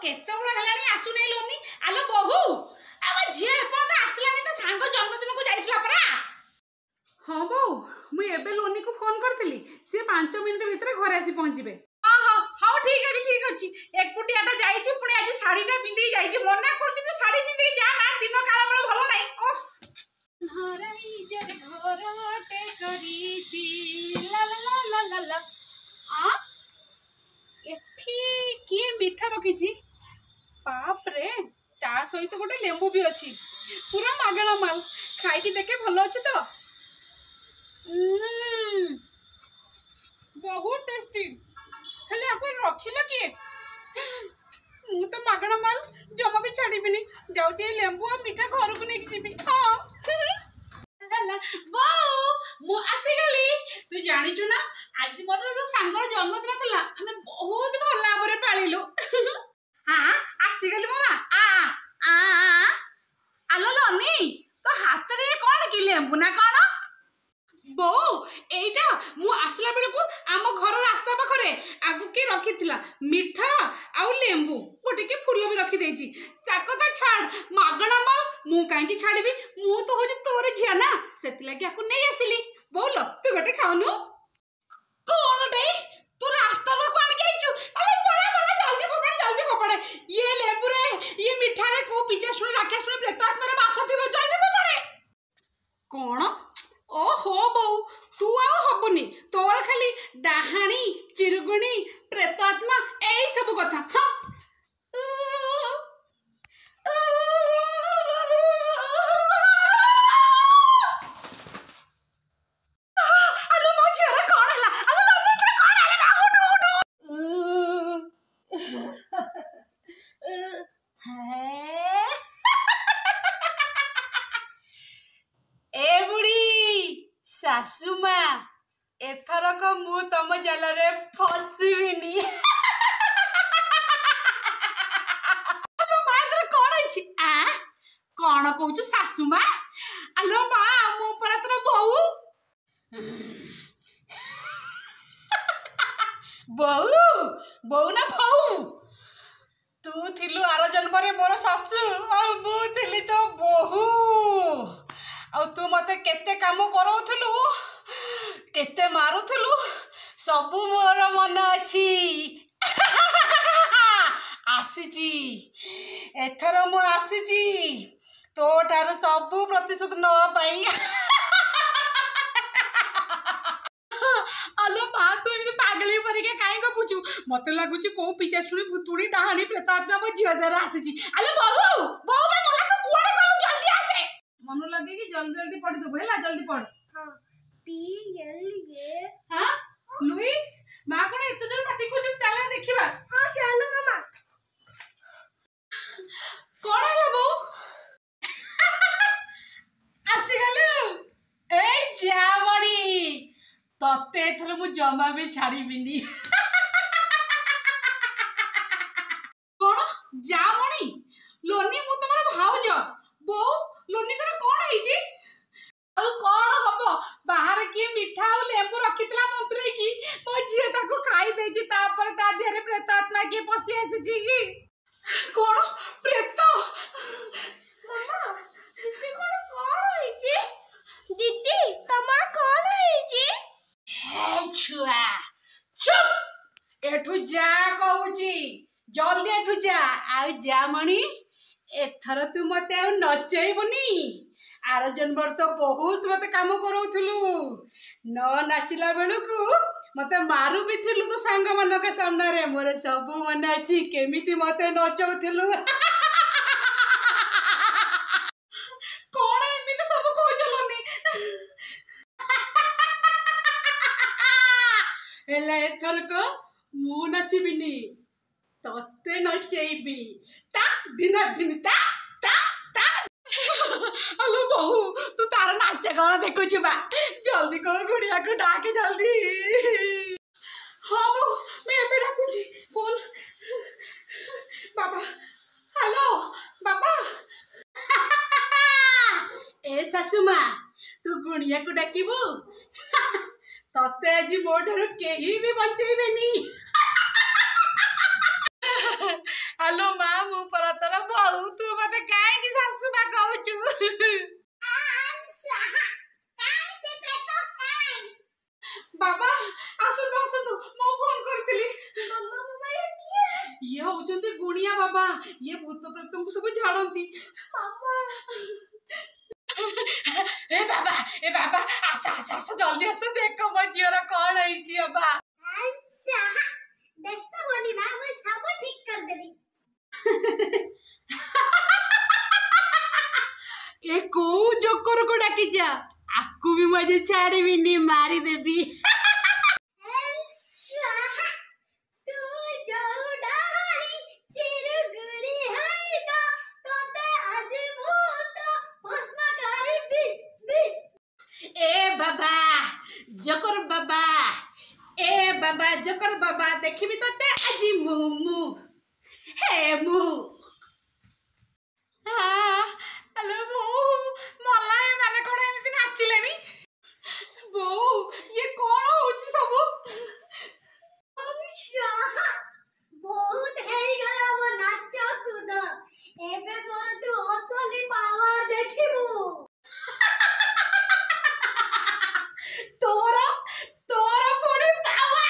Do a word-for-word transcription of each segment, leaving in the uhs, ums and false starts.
କେତେବେଳ ହେଲାଣି ଆସୁନାହିଁ ଲୋନି। ଆଲୋ ବୋହୁ, ଆମ ଝିଅ ଏପର୍ଯ୍ୟନ୍ତ ଆସିଲାନି, ତା ସାଙ୍ଗ ଜନ୍ମଦିନକୁ ଯାଇଥିଲା ପରା। ହଁ ବୋଉ, ମୁଁ ଏବେ ଲୋନିକୁ ଫୋନ କରିଥିଲି, ସିଏ ପାଞ୍ଚ ମିନିଟ୍ ଭିତରେ ଘରେ ଆସି ପହଞ୍ଚିବେ। ହଁ ହଁ, ହଉ ଠିକ ଅଛି ଠିକ ଅଛି। ଏକୁଟିଆଟା ଯାଇଛି, ପୁଣି ଆଜି ଶାଢୀଟା ପିନ୍ଧିକି ଯାଇଛି। ମନା କରୁଛି ତୁ ଶାଢୀ ପିନ୍ଧିକି ଯା ନା, ଦିନ କାଳ ବେଳ ଭଲ ନାହିଁ। ଓଫ୍, ଘରଟେ କରିଛି ଲା ଲା ଲା ଲା ଲା। ଆ, ଏଠି କିଏ ମିଠା ରଖିଛି? ବାପରେ, ତା ସହିତ ଗୋଟେ ଲେମ୍ବୁ ବି ଅଛି, ପୁରା ମାଗଣା ମାଲ। ଖାଇକି ଦେଖେ ଭଲ ଅଛି ତ। ବହୁତ ଟେଷ୍ଟି। ହେଲେ ଆକୁ ରଖିଲା କିଏ? ମୁଁ ତ ମାଗଣା ମାଲ ଜମା ବି ଛାଡ଼ିବିନି। ଯାଉଛି ଏଇ ଲେମ୍ବୁ ଆଉ ମିଠା ଘରକୁ ନେଇକି ଯିବି। ହଁ ହେଲା ବୋଉ, ମୁଁ ଆସିଗଲି। ତୁ ଜାଣିଛୁ ନା, ଆଜି ମୋର ଯୋଉ ସାଙ୍ଗର ଜନ୍ମଦିନ ଥିଲା, ଆମେ ବହୁତ ଭଲ ଭାବରେ ପାଳିଲୁ। ହଁ, ଆସିଗଲି ମୋ ମା। ଆ ଆ, ଆଲୋ ଲନି, ତୋ ହାତରେ କଣ କି, ଲେମ୍ବୁ ନା କଣ? ବୋଉ, ଏଇଟା ମୁଁ ଆସିଲା ବେଳକୁ ଆମ ଘର ରାସ୍ତା ପାଖରେ ଆଗକୁ କିଏ ରଖିଥିଲା ମିଠା ଆଉ ଲେମ୍ବୁ, ଗୋଟେ କି ଫୁଲ ବି ରଖିଦେଇଛି। ତା କଥା ଛାଡ଼, ମାଗଣା ମାଲ ମୁଁ କାହିଁକି ଛାଡ଼ିବି? ମୁଁ ତ ହଉଛି ତୋର ଝିଅ ନା, ସେଥିଲାଗି ଆକୁ ନେଇ ଆସିଲି। ବୋଉଲ, ତୁ ଗୋଟେ ଖାଉନୁ। କଣଟେ ତୁ ରାସ୍ତାରୁ ଆଣିକି ଆଇଛୁ? ଆରେ ପଳା ପଳା, ଜଲ୍ଦି ଫୋପାଡ଼େ, ଜଲ୍ଦି ଫୋପାଡ଼େ। ଇଏ ଲେମ୍ବୁରେ ଇଏ ମିଠାରେ କୋଉ ପିଚାଶୁଣି ରାକ୍ଷାଶୁଣି ପ୍ରେତ ଆତ୍ମାର ବାସ ଥିବ, ଜଲ୍ଦି ଫୋପାଡ଼େ। କଣ? ଓହୋ ବୋଉ, ତୁ ଆଉ ହବୁନି, ତୋର ଖାଲି ଡାହାଣୀ ଚିରୁଗୁଣି ପ୍ରେତ ଆତ୍ମା ଏଇ ସବୁ କଥା। ହଁ, ଆଲୋ ମୋ ଝିଅର କଣ ହେଲା? ଆଲୋ ଲନି, ତୋର କଣ ହେଲା? ମା, ଉଠୁ ଉଠୁ। ଏ ବୁଢୀ ଶାଶୁ ମା, ଏଥରକ ମୁଁ ତମ ଜାଲରେ ଫସିବିନି। ଆଲୋ ମା, ତୋର କଣ ହେଇଛି? ଆ, କଣ କହୁଛୁ ଶାଶୁ ମା? ଆଲୋ ମା, ମୁଁ ପରା ତୋର ବୋଉ। ବୋଉ ବୋଉ ନା ଫଉ? ତୁ ଥିଲୁ ଆର ଜନ୍ମରେ ମୋର ଶାଶୁ ଆଉ ମୁଁ ଥିଲି ତୋ ବୋହୂ। ଆଉ ତୁ ମତେ କେତେ କାମ କରଉଥିଲୁ, କେତେ ମାରୁଥିଲୁ, ସବୁ ମୋର ମନେ ଅଛି। ଆସିଛି ଏଥର, ମୁଁ ଆସିଛି ତୋ ଠାରୁ ସବୁ ପ୍ରତିଶୋଧ ନେବା ପାଇଁ। ଆଲୋ ମା, ତୁ ଏମିତି ପାଗଳି ପରିକା କାହିଁ ଗପୁଛୁ? ମତେ ଲାଗୁଛି କୋଉ ପିଚାଶୁଣି ଭୂତୁଣୀ ଡାହାଣୀ ପ୍ରେତ ଆତ୍ମା ମୋ ଝିଅ ଦ୍ୱାରା ଆସିଛି। ଆଲୋ ବୋଉ, ବୋଉ ବା ମଲା, ତୁ କୁଆଡେ ଗଲୁ? ଜଲ୍ଦି ଆସେ। ମନ ଲଗେଇକି ଜଲ୍ଦି ଜଲ୍ଦି ପଢିଦବୁ, ହେଲା? ଜଲ୍ଦି ପଢ। P L A. ହଁ ଲୁଇ, ମା କଣ ଏତେ ଜୋର ପାଟି କରୁଛନ୍ତି? ଚାଲ ଦେଖିବା। ହଁ, ଚାଲ ମାମା। କଣ ହେଲା ବୋଉ? ଆସିଗଲୁ? ଏଇ ଯାମଣି, ତତେ ଏଥର ମୁଁ ଜମା ବି ଛାଡ଼ିବିନି। କଣ ଯାମଣି? ଲୋନି, ମୁଁ ତମର ଭାଉଜ। ବୋଉ, ଲୋନିଙ୍କର କଣ ହେଇଛି? ଆଉ କଣ ହବ, ବାହାରେ କିଏ ମିଠା ଆଉ ଲେମ୍ବୁ ରଖିଥିଲା ମନ୍ତୁରେଇକି, ମୋ ଝିଅ ତାକୁ ଖାଇ ଦେଇଛି। ତାପରେ ତା ଦେହରେ ପ୍ରେତ ଆତ୍ମା କିଏ ପଶି ଆସିଛି କି କଣ। ପ୍ରେତ? ମାମା, ଦିଦି କଣ କଣ ହେଇଛି? ଦିଦି, ତମର କଣ ହେଇଛି? ଛୁଆ ଚୁପ୍, ଏଠୁ ଯା କହୁଛି, ଜଲ୍ଦି ଏଠୁ ଯା। ଆଉ ଯା ମଣି, ଏଥର ତୁ ମତେ ଆଉ ନଚେଇବୁନି। ଆର ଜନ୍ମରେ ତ ବହୁତ ମତେ କାମ କରଉଥିଲୁ, ନ ନାଚିଲା ବେଳକୁ ମତେ ମାରୁ ବି ଥିଲୁ ତୋ ସାଙ୍ଗମାନଙ୍କ ସାମ୍ନାରେ। ମୋର ସବୁ ମନେ ଅଛି, କେମିତି ମତେ ନଚଉଥିଲୁ। କଣ ଏମିତି ସବୁ କହୁଛ ଲୋନି? ହେଲେ ଏଥରକ ମୁଁ ନାଚିବିନି, ତତେ ନଚେଇବି। ତା ଦିନ ଦିନ ତା ତା ତା। ଆଲୋ ବୋହୁ, ତୁ ତାର ନାଚ କଣ ଦେଖୁଛୁ ବା? ଜଲ୍ଦି କହ, ଗୁଡିଆକୁ ଡାକେ ଜଲ୍ଦି। ହଁ ବୋଉ, ମୁଁ ଏବେ ଡାକୁଛି। ଫୋନ ବାବା। ହ୍ୟାଲୋ ବାବା। ଏ ଶାଶୁ ମା, ତୁ ଗୁଣିଆକୁ ଡାକିବୁ? ତତେ ଆଜି ମୋ ଠାରୁ କେହି ବି ବଞ୍ଚେଇବେନି। ଆଲୋ ଇଏ ହଉଛନ୍ତି ଗୁଣିଆ ବାବା, ଇଏ ଭୂତ ପ୍ରେତଙ୍କୁ ସବୁ ଝାଡ଼ନ୍ତି। ଏ ବାବା, ଏ ବାବା, ଆସ ଆସ ଆସ, ଜଲ୍ଦି ଆସ, ଦେଖ ମୋ ଝିଅର କଣ ହେଇଛି ବାବା। ବ୍ୟସ୍ତ ହୁଅନି ମା, ମୁଁ ସବୁ ଠିକ କରିଦେବି। ଏ କୋଉ ଜୋକରକୁ ଡାକିଛ? ଆକୁ ବି ମୁଁ ଆଜି ଛାଡ଼ିବିନି, ମାରିଦେବି। ତୁ ଯୋଉ ଡାହାଣୀ ଚିରୁଗୁଣି ହେଇତ, ତତେ ଆଜି ଭୂତ ଭସ୍ମ କରିବି। ଏ ବାବା ଜୋକର ବାବା, ଏ ବାବା ଜୋକର ବାବା, ଦେଖିବି ତତେ ଆଜି ମୁଁ ମୁଁ ହେ ମୁଁ। ହ୍ୟାଲୋ ବୋଉ, ମଲା ଏମାନେ କଣ ଏମିତି ନାଚିଲେଣି? ବୋଉ, ଇଏ କଣ ହଉଛି ସବୁ? ବହୁତ ହେଇଗଲା ମୋ ନାଚ କୁଦ, ଏବେ ମୋର ତୁ ଅସଲି ପାୱାର ଦେଖିବୁ। ତୋର ତୋର ପୁଣି ପାୱାର?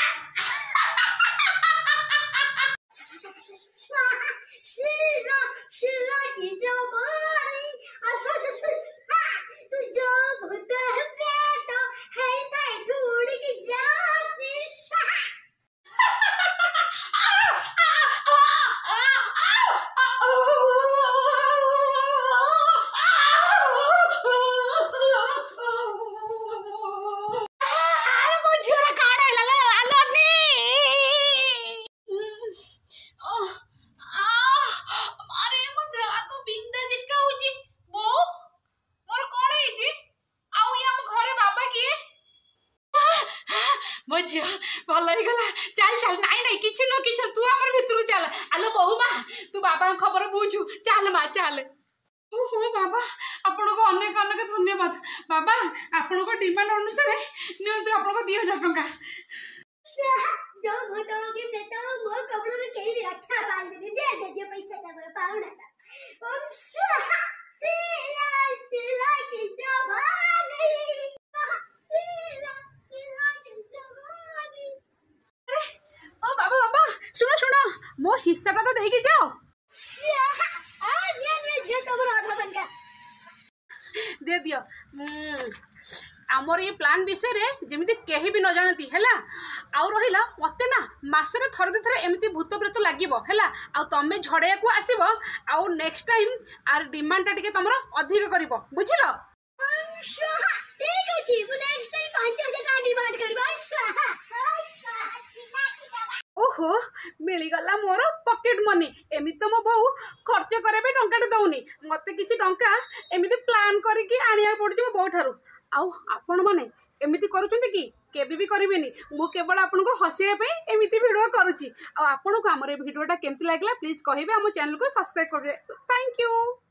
ଶିଲା ଶିଲା କି ଜବାନି, ତୁ ଯୋଉ ଭୂତ ପ୍ରେତ ହେଇଥାଏ ଉଡ଼ିକି ଯାନ୍ତି। ଆରେ ମୋ ଝିଅର କଣ ହେଲା ଲୋ? ଆଲୋନି, ଆରେ ମୋ ଦେହ ହାତ ବିନ୍ଧା ଝିଟକା ହଉଛି। ବୋଉ, ମୋର କଣ ହେଇଛି? ଆଉ ଇଏ ଆମ ଘରେ ବାବା କିଏ? ମୋ ଝିଅ ଭଲ ହେଇଗଲା। ଚାଲ ଚାଲ। ନାଇଁ ନାଇଁ, କିଛି ନୁହଁ, କିଛି, ତୁ ଆମର ଭିତରକୁ ଚାଲ। ଆଲୋ ବୋହୁ ମା, ତୁ ବାବାଙ୍କ ଖବର ବୁଝୁ, ଚାଲ ମା ଚାଲ। ଓହୋ ବାବା, ଆପଣଙ୍କୁ ଅନେକ ଅନେକ ଧନ୍ୟବାଦ ବାବା। ଆପଣଙ୍କ ଡିମାଣ୍ଡ ଅନୁସାରେ ନିଅନ୍ତୁ ଆପଣଙ୍କ ଦି ହଜାର ଟଙ୍କା। ଯୋଉ ଭୂତ କି ପ୍ରେତ, ମୋ କବଳରୁ କେହି ବି ରକ୍ଷା ପାଇବେନି। ଦେ ଦେ ଦିଅ ପଇସାଟା, ମୋର ପାଉଣାଟା। ଓମ୍ ସ୍ୱାହା, ଶିଲା ଶିଲା କି ଜବାନି, ଶିଲା ଶିଲା କି ଜବାନି। ଓ ବାବା ବାବା, ଶୁଣ ଶୁଣ, ମୋ ହିସାଟା ତ ଦେଇକି ଯାଅ। ଆ ନିଅ ନିଅ ଝିଅ, ତମର ଅଧା ଟଙ୍କା। ଦିଅ ଦିଅ। ଆମର ଏଇ ପ୍ଲାନ୍ ବିଷୟରେ ଯେମିତି କେହି ବି ନ ଜାଣନ୍ତି, ହେଲା? ଆଉ ରହିଲା, ମୋତେ ନା ମାସରେ ଥରେ ଦୁଇ ଥର ଏମିତି ଭୂତ ପ୍ରେତ ଲାଗିବ, ହେଲା? ଆଉ ତମେ ଝଡ଼େଇବାକୁ ଆସିବ, ଆଉ ନେକ୍ସଟ ଟାଇମ୍ ଆର ଡିମାଣ୍ଡଟା ଟିକେ ତମର ଅଧିକ କରିବ, ବୁଝିଲ? ଠିକ ଅଛି, ମୁଁ ନେକ୍ସଟ ଟାଇମ୍ ପାଞ୍ଚ ହଜାର ଟଙ୍କା ଡିମାଣ୍ଡ କରିବ। ଓହୋ, ମିଳିଗଲା ମୋର ପକେଟ ମନି। ଏମିତି ତ ମୋ ବୋଉ ଖର୍ଚ୍ଚ କରିବା ପାଇଁ ଟଙ୍କାଟେ ଦଉନି ମତେ କିଛି ଟଙ୍କା, ଏମିତି ପ୍ଲାନ୍ କରିକି ଆଣିବାକୁ ପଡୁଛି ମୋ ବୋଉ ଠାରୁ। ଆଉ ଆପଣମାନେ ଏମିତି କରୁଛନ୍ତି କି? କେବେ ବି କରିବେନି। ମୁଁ କେବଳ ଆପଣଙ୍କୁ ହସେଇବା ପାଇଁ ଏମିତି ଭିଡ଼ିଓ କରୁଛି। ଆଉ ଆପଣଙ୍କୁ ଆମର ଏ ଭିଡ଼ିଓଟା କେମିତି ଲାଗିଲା ପ୍ଲିଜ୍ କହିବେ, ଆମ ଚ୍ୟାନେଲକୁ ସବସ୍କ୍ରାଇବ୍ କରିବେ। Thank you.